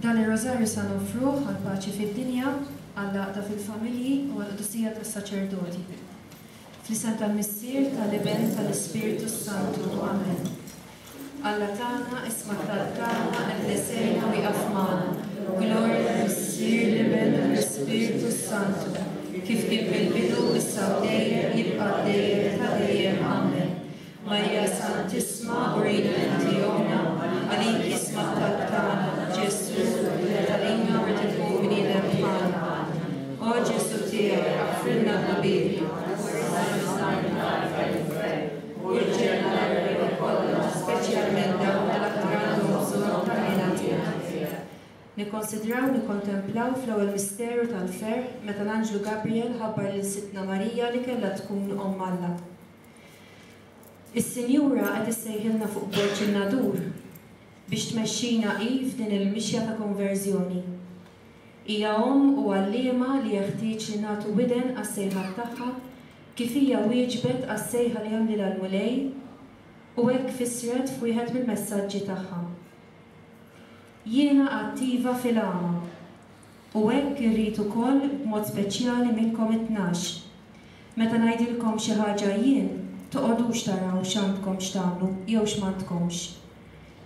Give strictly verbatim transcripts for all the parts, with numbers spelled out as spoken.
Dan ir-rożarju sa nofruh għall-paċi fid-dinja, għall-għaqda fil-familji u għall-qdusija tas-saċerdoti. Fl-isem tal-Missier, tal-Iben, tal-Ispirtu Santu. Amen. Alla tagħna, isma' t-talb tagħna, eħlesejna u ieqaf magħna. Glorja lill-Missier, l-Iben u l-Ispirtu Santu, kif kien fil-bidu, issa u dejjem, jibqa' dejjem ta' dejjem. Amen. Marija Santissima, urina inti ommna, għalik isma' t-talb tagħna, Ġesù, talina u tkun bniedem bħalna. O Ġesù tiegħi, aħfrilna dnubietna, u l-ġenna l-erwieħ kollha, speċjalment dawk li l-aktar għandhom bżonn tal-ħniena tiegħek. Nikkonsidraw nikkontemplaw fl-ewwel misteru tal-ferħ meta l-Anġlu Gabriel ħabbar lil Sidtna Marija li kellha tkun omm Alla. Is-Sinjura qed issejħilna fuq Borġ in-Nadur biex tmexxina hi f'din il-mixja ta' konverżjoni. Hija omm u għalliema li jeħtieġ li nagħtu widen għas-sejħat tagħha kif hija wieġbet għas-sejħa li għamlilha l-Mulej u hekk fissret f'wieħed mill-messaġġi tagħha. Jiena attiva fil-għama u hekk irrid ukoll b'mod speċjali minnkom it-tnax. Meta ngħidilkom xi ħaġa jien, toqgħodux taraw x'għandkom x'tagħmlu jew x'm'għandkomx.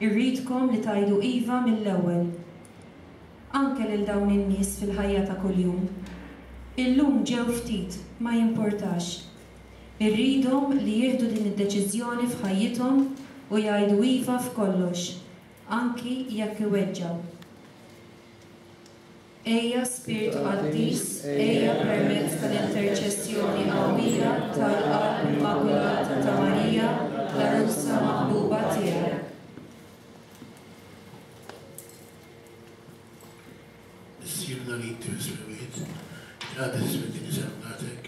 Irridkom li tgħidu iva mill-ewwel. Anke lil dawn in-nies fil-ħajja ta' kuljum. Illum ġew ftit, ma jimportax. Irridhom li jieħdu din id-deċiżjoni f'ħajjithom u jgħidu iva f'kollox, anki jekk iweġġgħu. Ejja Spiritu Qaddis, ejja permezz tal-interċessjoni qawwija tal-Qalb Immakulata ta' Marija, l-għarusa maħbuba tiegħek. Missierna li inti fis-smewwiet, jitqaddes ismek din isemnatek,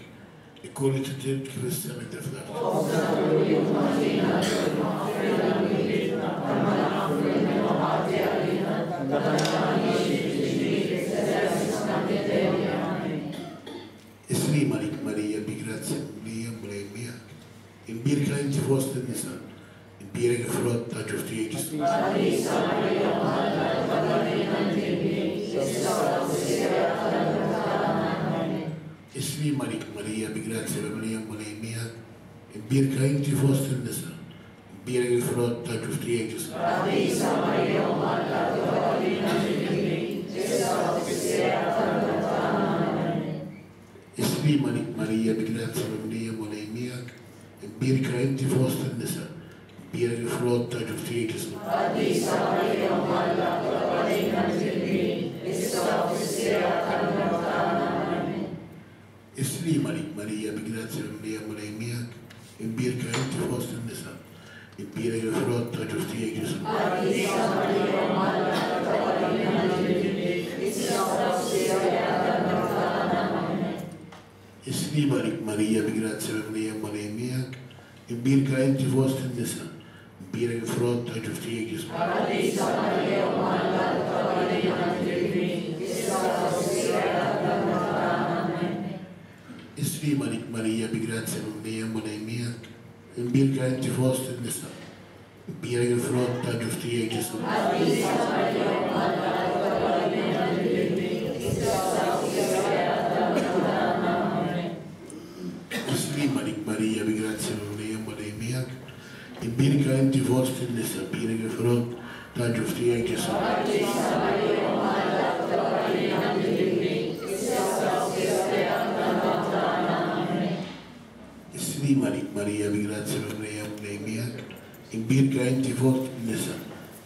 ikun li trid kif is-sema inti fl-art. Is-sliem għalik Marija bi grazzja mimlija Mulej miegħek. Imbierka inti fost in-nisa, imbierek il-frott ta' ġuf tiegħek Ġesù. Qaddisa Marija Alla, tgħallimna issa u fis-siegħa tal-mewt tagħna. Amen. Is-sliem għalik Marija bi grazzja mimlija Mulej miegħek. Imbierka inti fost in-nisa, imbierek il-frott ta' ġuf tiegħek Ġesù. Qaddisa Marija Alla, tgħallimna issa u fis-siegħa tal-mewt tagħna. Amen. Is-sliem għalik Marija bi grazzja mimlija Mulej miegħek. Imbierka inti fost in-nisa, imbierek il-frott ta' ġuf tiegħek Ġesù. Qaddisa Marija Alla, tgħallimna issa u fis-siegħa tal-mewt tagħna. Amen. Is-sliem għalik Marija bi grazzja mimlija Mulej miegħek. Imbierka inti fost in-nisa, imbierek il-frott ta' ġuf tiegħek Ġesù. Qaddisa Marija Alla, tgħallimna issa u fis-siegħa tal-mewt tagħna. Amen. Is-sliem għalik Marija bi grazzja mimlija Mulej miegħek. Imbierka inti fost in-nisa, imbierek il-frott ta' ġuf tiegħek Ġesù. Qaddisa Marija Alla, tgħallimna issa u fis-siegħa tal-mewt tagħna. Amen. Is-sliem għalik Marija bi grazzja mimlija Mulej miegħek. Imbierka inti fost in-nisa, imbierek il-frott ta' ġuf tiegħek Ġesù. Qaddisa Marija Alla, tgħallimna issa u fis-siegħa tal-mewt tagħna. Amen. Is-sliem għalik Marija bi grazzja mimlija Mulej miegħek. Imbierka inti fost in-nisa, imbierek il-frott ta' ġuf tiegħek Ġesù. Qaddisa Marija Alla, tgħallimna issa u fis-siegħa tal-mewt tagħna. Amen. Is-sliem għalik Marija bi grazzja mimlija Mulej miegħek. Imbierka inti fost in-nisa,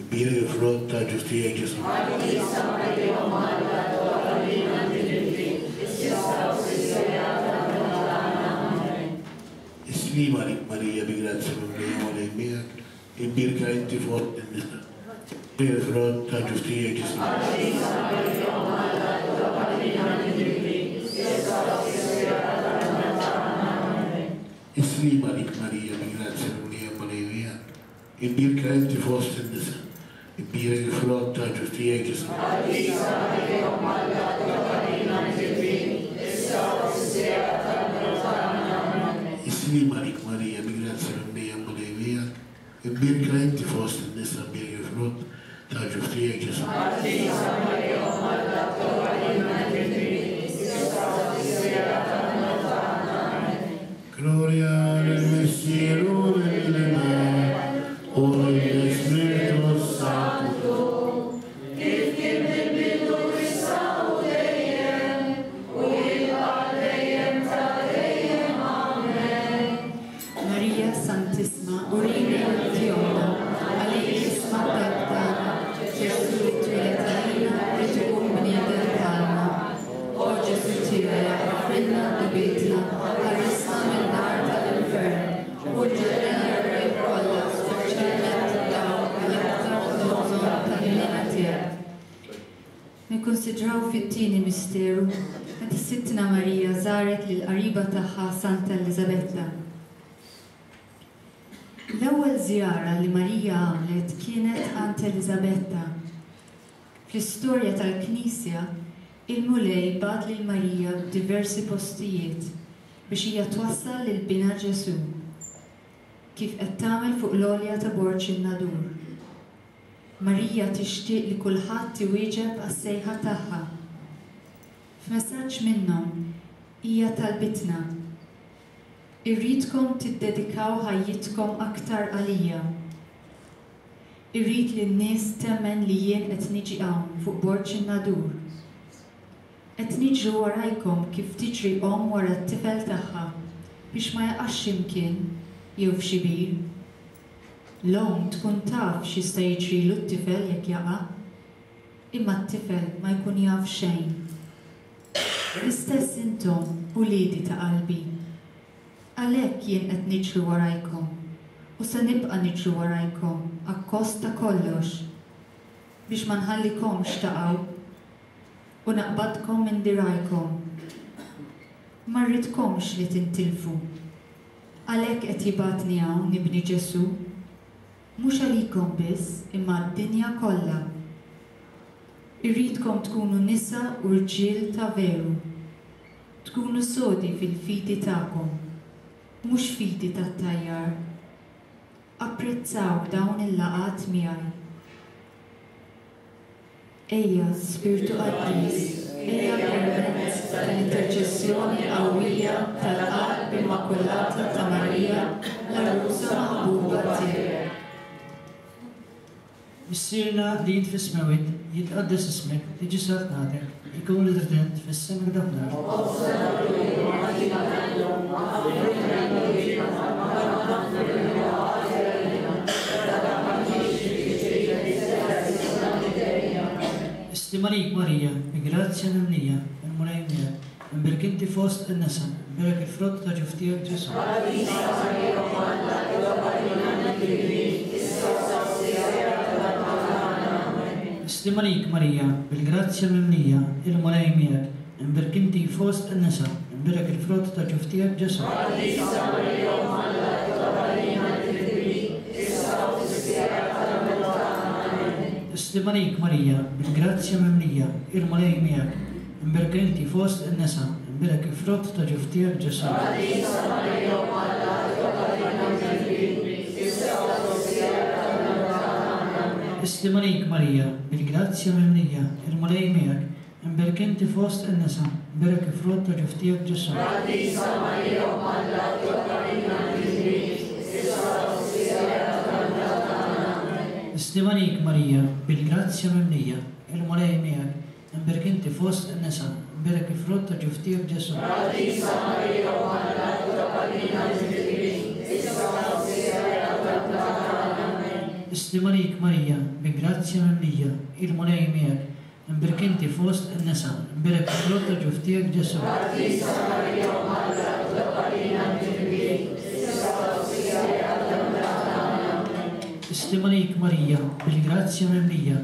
imbierek il-frott ta' ġuf tiegħek Ġesù. Qaddisa Marija Alla, tgħallimna issa u fis-siegħa tal-mewt tagħna. Amen. Is-sliem għalik Marija bi grazzja mimlija Mulej miegħek. Imbierka inti fost in-nisa, imbierek il-frott ta' ġuf tiegħek Ġesù. Qaddisa Marija Alla, tgħallimna issa u fis-siegħa tal-mewt tagħna. Amen. Is-sliem għalik Marija bi grazzja mimlija Mulej miegħek. Imbierka inti fost in-nisa, imbierek il-frott ta' ġuf tiegħek Ġesù. Qaddisa Marija Alla, tgħallimna issa u fis-siegħa tal-mewt tagħna. Amen. Is-sliem għalik Marija bi grazzja mimlija Mulej miegħek. Imbierka inti fost in-nisa, imbierek il-frott ta' ġuf tiegħek Ġesù. Gloria lill-Missier u lill-Iben u lill-Ispirtu s-Santu. Kif kien fil-bidu issa u dejjem, u jibqa' dejjem ta' dejjem. Amen. Marija Santissima, urina inti ommna, għalik isma' t-talb tagħna, Ġesù li twieled għalina rrid ikun bniedem bħalna. O Ġesù tiegħi, aħfrilna dnubietna, ħarisna min-nar tal-infern, u ġenna l-erwieħ kollha, speċjalment dawk li l-aktar għandhom bżonn tal-ħniena tiegħek. Nikkonsidraw fit-tieni misteru meta Sidtna Marija żaret lil qariba tagħha Santa Eliżabetta. L-ewwel żjara li Marija għamlet kienet għand Eliżabetta. Fl-istorja tal-Knisja, il-Mulej bagħat lil Marija f'diversi postijiet biex hija twassal lil binha Ġesù, kif qed tagħmel fuq l-għolja ta' Borġ in-Nadur. Marija tixtieq li kulħadd iwieġeb għas-sejħa tagħha. F'messaġġ minnhom hija talbitna: Irridkom tiddedikaw ħajjitkom aktar għalija. Irrid li n-nies temmen li jien qed niġi hawn fuq Borġ in-Nadur. Qed niġri warajkom kif tiġri omm wara t-tifel tagħha biex ma jaqax x'imkien jew f'xi bir. L-omm tkun taf x'jista' jiġrilu t-tifel jekk jaqa', imma t-tifel ma jkun jaf xejn. L-istess intom, uliedi ta' qalbi. Għalhekk jien qed niġri warajkom u se nibqa' niġri warajkom akkost ta' kollox biex ma nħallikomx taqgħu u naqbadkom minn dirajkom. Ma rridkomx li tintilfu. Għalhekk qed jibgħatni hawn ibni Ġesù, mhux għalikom biss imma d-dinja kollha. Irridkom tkunu nisa u rġiel ta' veru, tkunu sodi fil-fidi tagħkom, mhux fidi tat-tajjar. Apprezzaw dawn il-laqgħat miegħi. Ejja, Spirtu Qaddis, ejja permezz tal-interċessjoni qawwija tal-Qalb Immakulata ta' Marija, l-għarusa maħbuba tiegħek. Missierna li int fis-smewwiet, jitqaddes ismek, tiġi saltnatek, ikun li trid int fis-sema kif fl-art. Istimalik Marija, bi grazzja mimlija, il-Mulej miegħek, imbierek inti fost in-nisa, imbierek il-frott ta' ġuf tiegħek Ġesù. Istimalik Marija, bil-grazzja mimlija, il-Mulej miegħek, imbierek inti fost in-nisa, imbierek il-frott ta' ġuf tiegħek Ġesù. Istimalik Marija, bil-grazzja mimlija, il-Mulej miegħek, imbierek inti fost in-nisa, imbierek il-frott ta' ġuf tiegħek Ġesù. Istimalik Marija, bil-grazzja mimlija, il-Mulej miegħek, imbierek inti fost in-nisa, imbierek il-frott ta' ġuf tiegħek Ġesù. Istimalik Marija, bil-grazzja mimlija, il-Mulej miegħek, imbierek inti fost in-nisa, imbierek il-frott ta' ġuf tiegħek Ġesù. Istimalik Marija, bil-grazzja mimlija, il-Mulej miegħek, imbierek inti fost in-nisa, imbierek il-frott ta' ġuf tiegħek Ġesù. Istimalik Marija, bil-grazzja mimlija,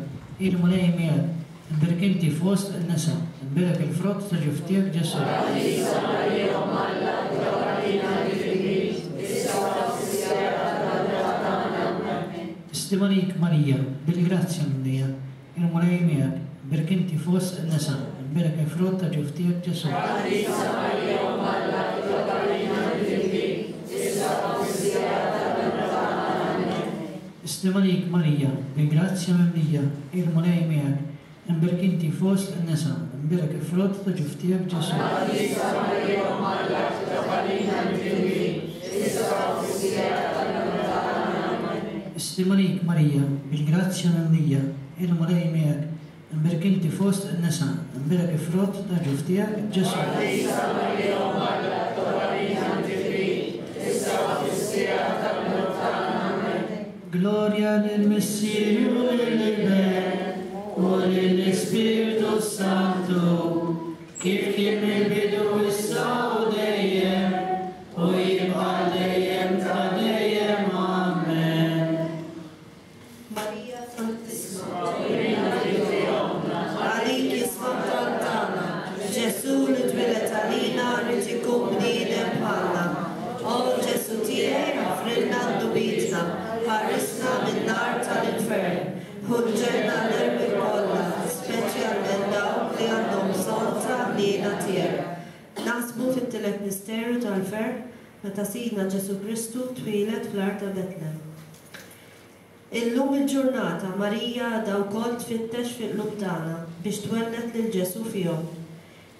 il-Mulej miegħek, imbierek inti fost in-nisa, imbierek il-frott ta' ġuf tiegħek Ġesù. Istimalik Marija, bil-grazzja mimlija, il-Mulej miegħek, imbierek inti fost in-nisa, imbierek il-frott ta' ġuf tiegħek Ġesù. Islima għalik Marija, bil-grazzja mimlija, il-Mulej miegħek, imbierek inti fost in-nisa, imbierek il-frott ta' ġuf tiegħek Ġesù. Qaddisa Marija, Omm Alla, itlob għalina midinbin, issa u fis-siegħa tal-mewt tagħna. Amen. Islima għalik Marija, bil-grazzja mimlija, il-Mulej miegħek, imbierek inti fost in-nisa, imbierek il-frott ta' ġuf tiegħek Ġesù. Qaddisa Marija, Omm Alla, itlob għalina midinbin, issa u fis-siegħa tal-mewt tagħna. Amen. Gloria lill-Missier u lill-Iben u lill-Ispirtu Santu, kif kien mill-bidu issa u dejjem u jibqa' dejjem ta' dejjem. Amen. Marija Santissima, għalik is-Sultan tagħna, Ġesù li twieled għalina rrid ikun bniedem bħalna. O Ġesù tiegħi, aħfrilna dnubietna, ħarisna min-nar tal-infern, ħu l-ġenna l-erwieħ kollha, speċjalment dawk li għandhom bżonn ta' ħniena tiegħek. Naħsbu fit-tielet misteru tal-ferħ meta Sidna Ġesù Kristu twieled fl-għar ta' Betlem. Illum il-ġurnata Marija għadha wkoll tfittex fil-qlub tagħna biex twelled lil Ġesù fihom.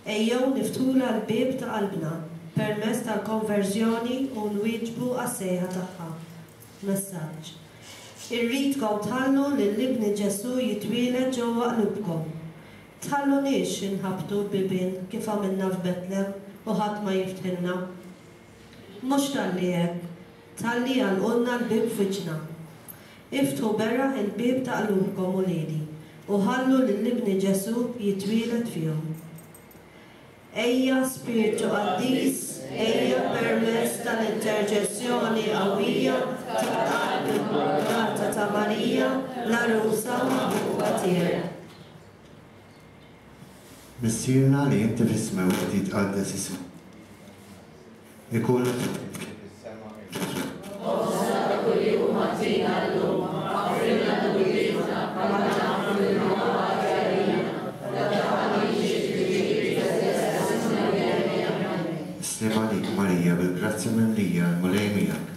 Ejjew niftħulha l-bieb ta' qalbna permezz tal-konverżjoni u nwieġbu għas-sejħa tagħha. Messaġġ. Irridkom tħallu lil ibni Ġesù jitwieled ġewwa qlubkom. Tħalluniex inħabbtu bibien kif għamilna f'Betlem u ħadd ma jiftħilna. Mhux talli hekk, talli għalqulna l-bieb f'wiċċna. Iftħu beraħ il-bieb ta' qlubkom uliedi u ħallu lil ibni Ġesù jitwieled fihom. Ejja Spiritu Qaddis, ejja permezz tal-interċessjoni qawwija tal-qalb Immakulata ta' Marija, l-għarusa maħbuba tiegħek. Missierna li inti fis-smewwiet jitqaddes ismek. Ikun Ħobżna ta' kuljum agħtina llum, aħfrilna dnubietna bħalma naħfru lil min hu ħati għalina, u la tdaħħalniex fi tentazzjoni. Sliem għalik Marija, bil-grazzja mimlija, l-Mulej miegħek.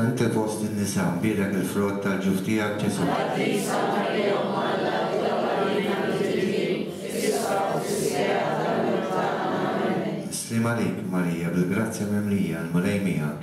Inti fost in-nisa, mbierek il-frott tal-ġuf tiegħek Ġesù. Qaddisa Marija, Omm Alla, itlob għalina midinbin, issa u fis-siegħa tal-mewt tagħna. Amen. Sliem għalik Marija, bil-grazzja mimlija, l-Mulej miegħek.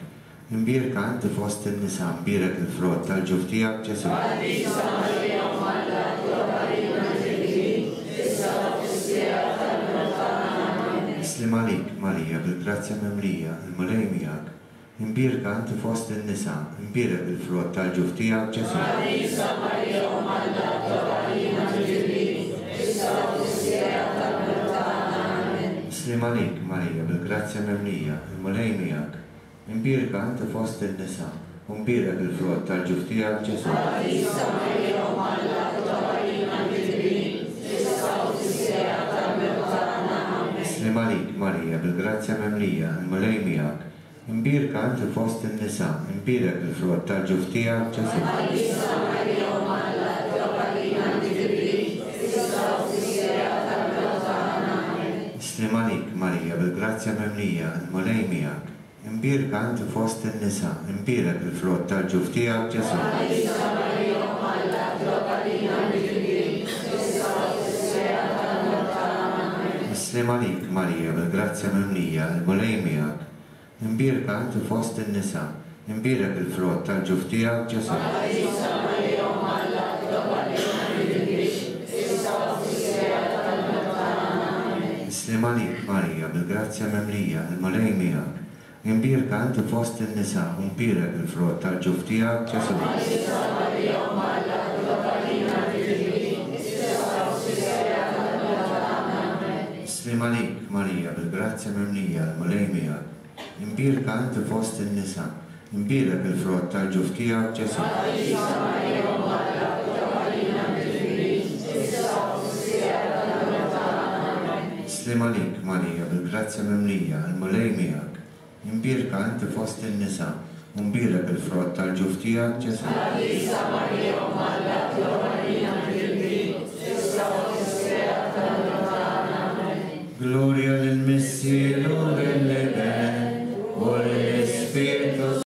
Imbierka inti fost in-nisa, mbierek il-frott tal-ġuf tiegħek Ġesù. Qaddisa Marija, Omm Alla, itlob għalina midinbin, issa u fis-siegħa tal-mewt tagħna. Amen. Sliem għalik Marija, bil-grazzja mimlija, il-Mulej miegħek. Imbierka inti fost in-nisa, imbierek il-frott tal-ġuf tiegħek Ġesù. Qaddisa Marija, Omm Alla, itlob għalina midinbin, issa u fis-siegħa tal-mewt tagħna. Amen. Sliem għalik Marija, bil-grazzja mimlija, il-Mulej miegħek. Imbierka inti fost in-nisa, u mbierek il-frott tal-ġuf tiegħek Ġesù. Qaddisa Marija, Omm Alla, itlob għalina midinbin, issa u fis-siegħa tal-mewt tagħna. Amen. Sliem għalik Marija, bil-grazzja mimlija, il-Mulej miegħek. Imbierka inti fost in-nisa, imbierek il-frott tal-ġuf tiegħek Ġesù. Qaddisa Marija, Omm Alla, itlob għalina midinbin, issa u fis-siegħa tal-mewt tagħna. Amen. Sliem għalik Marija, bil-grazzja mimlija, il-Mulej miegħek. Imbierka inti fost in-nisa, imbierek il-frott tal-ġuf tiegħek Ġesù. Qaddisa Marija, Omm Alla, itlob għalina midinbin, issa u fis-siegħa tal-mewt tagħna. Amen. Sliem għalik Marija, bil-grazzja mimlija, il-Mulej miegħek. Imbierka inti fost in-nisa, imbierek il-frott tal-ġuf tiegħek Ġesù. Qaddisa Marija, Omm Alla, itlob għalina midinbin, issa u fis-siegħa tal-mewt tagħna. Amen. Sliem għalik Marija, bil-grazzja mimlija, il-Mulej miegħek. Imbierka inti fost in-nisa, u mbierek il-frott tal-ġuf tiegħek Ġesù. Qaddisa Marija, Omm Alla, itlob għalina midinbin, issa u fis-siegħa tal-mewt tagħna. Amen. Sliem għalik Marija, bil-grazzja mimlija, il-Mulej miegħek. Imbierka inti fost in-nisa, imbierek il-frott tal-ġuf tiegħek Ġesù. Qaddisa Marija, Omm Alla, itlob għalina midinbin, issa u fis-siegħa tal-mewt tagħna. Amen. Sliem għalik Marija, bil-grazzja mimlija, il-Mulej miegħek. Imbierka inti fost in-nisa, u mbierek il-frott tal-ġuf tiegħek Ġesù. Qaddisa Marija, Omm Alla, itlob għalina midinbin, issa u fis-siegħa tal-mewt tagħna. Amen. Gloria